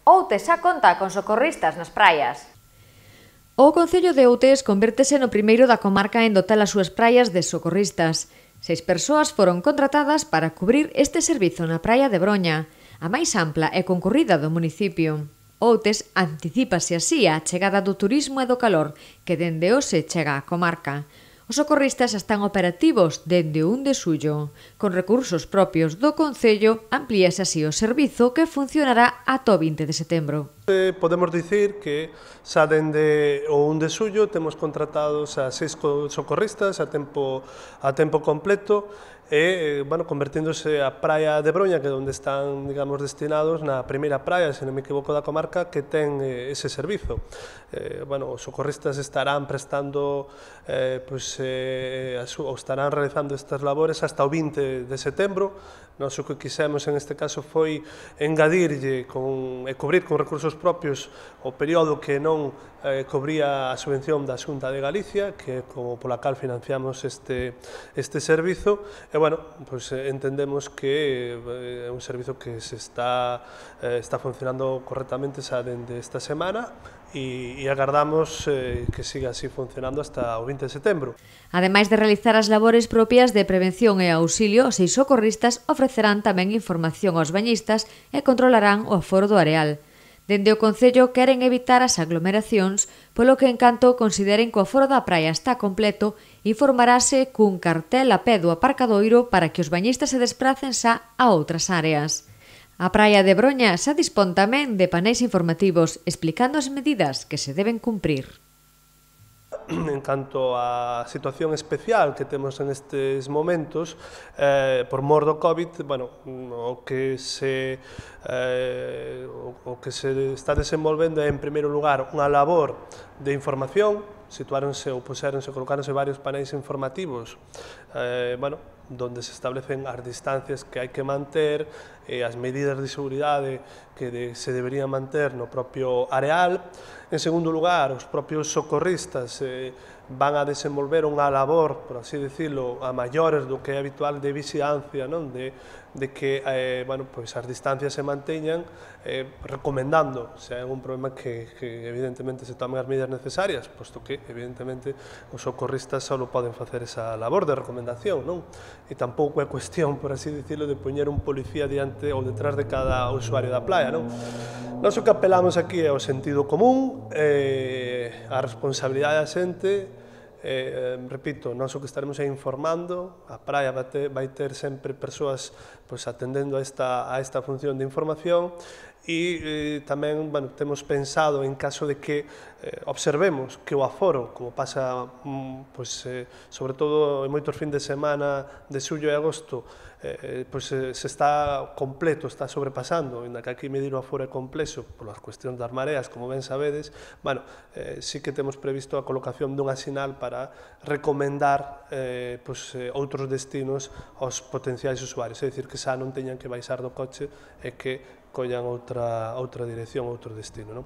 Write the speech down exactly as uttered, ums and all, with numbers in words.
Outes xa conta con socorristas nas praias. O Concello de Outes convértese no primeiro da comarca en dotar as súas praias de socorristas. Seis persoas foron contratadas para cubrir este servizo na praia de Broña, a máis ampla e concorrida do municipio. Outes anticípase así a chegada do turismo e do calor que dende hoxe chega á comarca. Os socorristas están operativos dende o un de xullo. Con recursos propios do Concello, amplíase así o servizo que funcionará ata o vinte de setembro. Podemos dicir que xa dende o un de xullo temos contratados a seis socorristas a tempo, a tempo completo e, bueno, convertíndose a praia de Broña, que é onde están, digamos, destinados na primeira praia, se non me equivoco, da comarca, que ten eh, ese servizo. Eh, bueno, os socorristas estarán prestando, eh, pues, eh, ou estarán realizando estas labores hasta o vinte de setembro. Nós o que quixemos en este caso foi engadirlle con, e cubrir con recursos propios o período que non eh, cobría a subvención da Xunta de Galicia, que é como pola cal financiamos este, este servizo, e, bueno, pues, eh, entendemos que é eh, un servizo que se está, eh, está funcionando correctamente xa dende esta semana e, e agardamos eh, que siga así funcionando hasta o vinte de setembro. Ademais de realizar as labores propias de prevención e auxilio, os seis socorristas ofrecerán tamén información aos bañistas e controlarán o aforo do areal. Dende o Concello queren evitar as aglomeracións, polo que en canto consideren que o aforo da praia está completo, informarase cun cartel a pé do aparcadoiro para que os bañistas se despracen xa a outras áreas. A praia de Broña xa dispón tamén de paneis informativos explicando as medidas que se deben cumprir. En canto á situación especial que temos en estes momentos, eh, por mor do COVID, bueno, o que se eh, o que se está desenvolvendo é, en primeiro lugar, unha labor de información. Situaronse ou puseronse, colocáronse varios paneis informativos, eh, bueno, donde se establecen as distancias que hai que manter e as medidas de seguridade que de, se deberían manter no propio areal. En segundo lugar, os propios socorristas eh, van a desenvolver unha labor, por así decirlo, a maiores do que é habitual de vigilancia, non? De, de que eh, bueno, pues as distancias se manteñan, eh, recomendando, se hai algún problema, que, que evidentemente se tomen as medidas necesarias, posto que evidentemente os socorristas só poden facer esa labor de recomendación, non? E tampouco é cuestión, por así decirlo, de poñer un policía diante ou detrás de cada usuario da playa, non? Nós o que apelamos aquí é o sentido común, eh, a responsabilidade da xente. Eh, repito, nós o que estaremos é informando, a praia vai ter, vai ter sempre persoas, pues, atendendo a esta, a esta función de información e eh, tamén, bueno, temos pensado en caso de que eh, observemos que o aforo, como pasa mm, pues, eh, sobre todo en moitos fin de semana de xullo e agosto, eh, pues, eh, se está completo, está sobrepasando, en que aquí medir o aforo é complexo polas cuestións das mareas, como ben sabedes, bueno, eh, sí que temos previsto a colocación dunha sinal para recomendar eh, pues, eh, outros destinos aos potenciais usuarios, é dicir, que xa non teñan que baixar do coche e que collan outra, outra dirección, outro destino, non?